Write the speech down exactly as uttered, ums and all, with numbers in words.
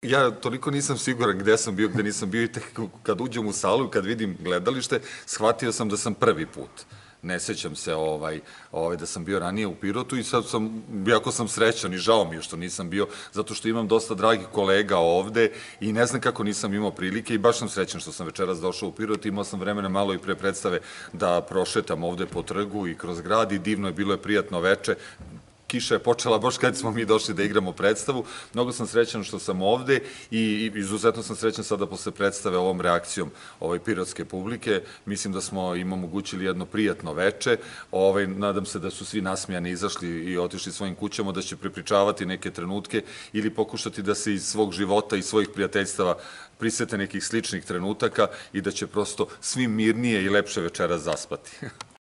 Ja toliko nisam siguran gde sam bio, gde nisam bio i tek kad uđem u salu, kad vidim gledalište, shvatio sam da sam prvi put. Ne sećam se ovaj, ovaj, da sam bio ranije u Pirotu i sad sam, jako sam srećan i žao mi je što nisam bio, zato što imam dosta dragih kolega ovde i ne znam kako nisam imao prilike i baš sam srećan što sam večeras došao u Pirot, imao sam vremena malo i pre predstave da prošetam ovde po trgu i kroz grad i divno je, bilo je prijatno veče. Kiša je počela baš kad smo mi došli da igramo predstavu. Mnogo sam srećan što sam ovde i izuzetno sam srećan sada posle predstave ovom reakcijom ovaj, pirotske publike. Mislim da smo im omogućili jedno prijatno veče. Ovaj, nadam se da su svi nasmijani izašli i otišli svojim kućama, da će prepričavati neke trenutke ili pokušati da se iz svog života i svojih prijateljstava prisete nekih sličnih trenutaka i da će prosto svi mirnije i lepše večeras zaspati.